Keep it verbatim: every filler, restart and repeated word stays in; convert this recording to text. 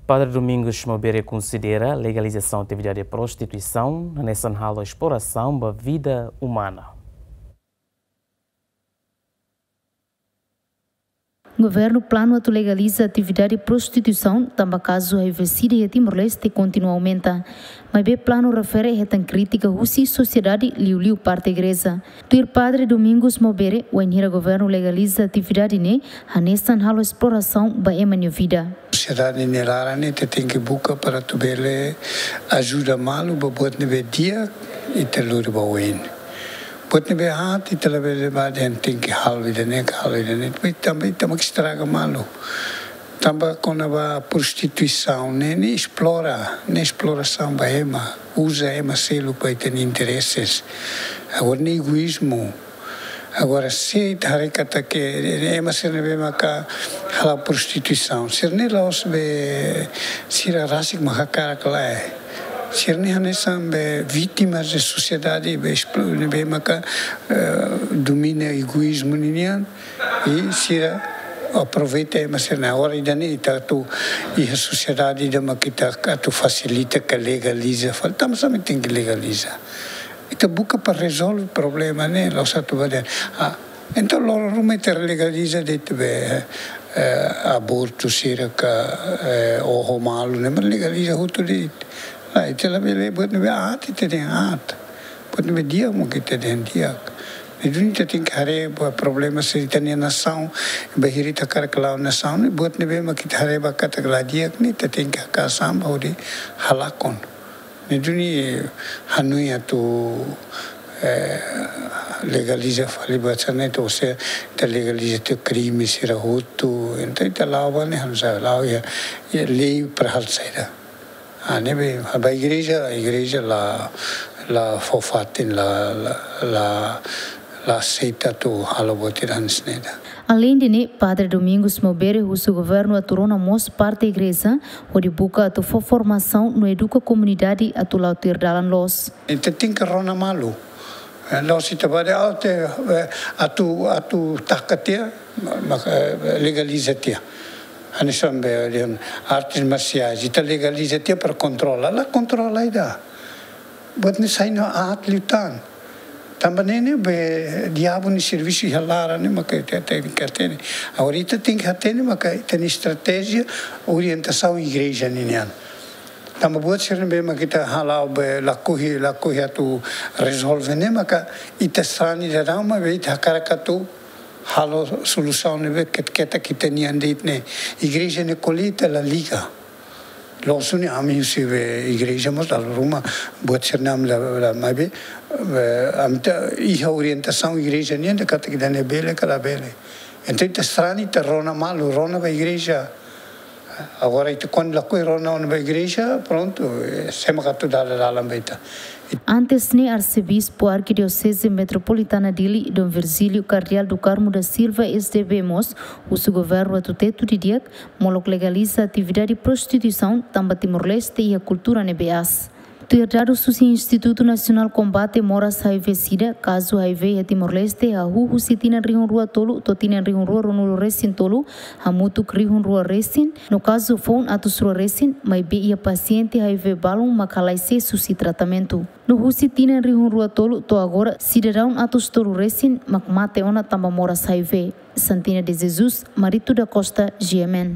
Padre Domingos Maubere konsidera legalizasaun atividade prostituisaun hanesan halo esplorasaun ba vida umana. Governu planu atu legaliza atividade prostituisaun, tanba kazu HIV/SIDA iha Timor-Leste kontinua aumenta. Maibé planu refere hetan krítika husi sosiedade, liuliu parte igreja. Tuir Padre Domingos Maubere, wainhira governu legaliza atividade ne'e, hanesan halo esplorasaun ba ema nia vida. Sosiedade nia laran ne'e ita tenke buka para atu bele ajuda malu ba buat ne'ebé di'ak, ita lori ba oin. Buat ne'ebé aat ita labele ba dehan tenke halo ida-ne'e, halo ida-ne'e. Depois tanba ita mak estraga malu. Tanba kona-ba prostituisaun ne'e, ne'e esplora, ne'e esplorasaun ba ema, uza ema seluk ba ita-nia intereses. Agora ne'e egoízmu. Agora se ita haree katak ema sira ne'ebé maka hala'o prostituisaun, sira-ne'e la'ós be sira rasik mak hakarak, lae. Sira-ne'e hanesan be vítimas de sosiedade be esplo-, ne'ebé maka, eh, domina egoízmu ninian, i sira aproveita ema sira-ne'e. Agora ida-ne'e ita atu iha sosiedade ida mak ita atu fasilita ka legaliza, fali tanba sá mak tenke legaliza. Ita buka para rezolve problema ne'e, la'ós atu ba dehan, ah, entaun loron ruma ita legaliza de'it be, eh, abortu sira ka, eh, oho malu ne'e mak legaliza hotu de'it. Lae, ita labele buat ne'ebé aat ita dehan aat. Buat ne'ebé di'ak mak ita dehan di'ak. Ne'e duni ita tenke haree ba problema sira ita-nia nasaun, bainhira ita hakarak la'o nasaun ne'e, buat ne'ebé mak ita haree ba katak la di'ak ne'e ita tenke haka'as an ba hodi halakon. Ne'e duni hanoin atu, eh, legaliza fali buat sira-ne'e, entaun se ita legaliza tiha krime sira hotu, entaun ita la'o ba ne'e, ha'u la sabe, la'o iha, iha lei para halo saida. Ah, ne'ebé, ba igreja, igreja la, la fó fatin, la, la, la, la aseita atu halo buat ida hanesan ne'e ida. Aleinde ne'e, Padre Domingos Maubere husu governu atu rona mós parte igreja, hodi buka atu fó formasaun no eduka komunidade atu la'o tuir dalan loos. Ita tenke rona malu. Eh, la'ós ita ba dehan, ah, ita, eh, atu, atu taka tiha, ma-, ma-, eh, legaliza tiha. Hanesan be dehan artes marsiais, ita legaliza tiha para kontrola. La kontrola ida. Buat ne'e sai no aat liután. Tanba ne'e ne'e be diabu nia servisu iha laran ne'e maka ita tenke hatene. Agora ita tenke hatene maka ita-nia estratéjia, orientasaun igreja ninian. Tanba buat sira ne'ebé mak ita hala'o be lakohi, lakohi atu rezolve ne'e maka ita sarani daudaun maibé ita hakarak atu halo solusaun ne'ebé ket-, ketak ita-nian de'it ne'e. Igreja ne'e ko'alia ita la liga. Loos duni ami husi be igreja mós dala ruma buat sira-ne'e ami la, la, maibé, eh, ami ita iha orientasaun igreja nian dehan katak ida-ne'e bele ka labele. Entaun ita sarani ita rona malu, rona ba igreja. Agora ita kuandu lakohi rona ona ba igreja, prontu, eh, sé mak atu dala dalan ba ita. Antes ne'e, Arsebispu Arkidioseze Metropolitana Dili, Dom Virgílio Kardeál do Carmo da Silva, S D B mós, husu governu atu tetu didi'ak, molok legaliza atividade prostituisaun, tanba Timor-Leste iha kultura ne'ebé aas. Tuir dadus husi Institutu Nasionál Kombate Moras HIV SIDA, kazu HIV iha Timor-Leste hahú husi tinan rihun rua tolu to'o tinan rihun rua ruanulu resin tolu, hamutuk rihun rua resin, no kazu foun atus rua resin, maibé iha pasiente HIV balun mak halai sees husi tratamentu. No husi tinan rihun rua tolu to'o agora, sidadaun atus tolu resin mak mate ona tanba moras HIV. Santina de Jesus, Marito da Costa, G M N.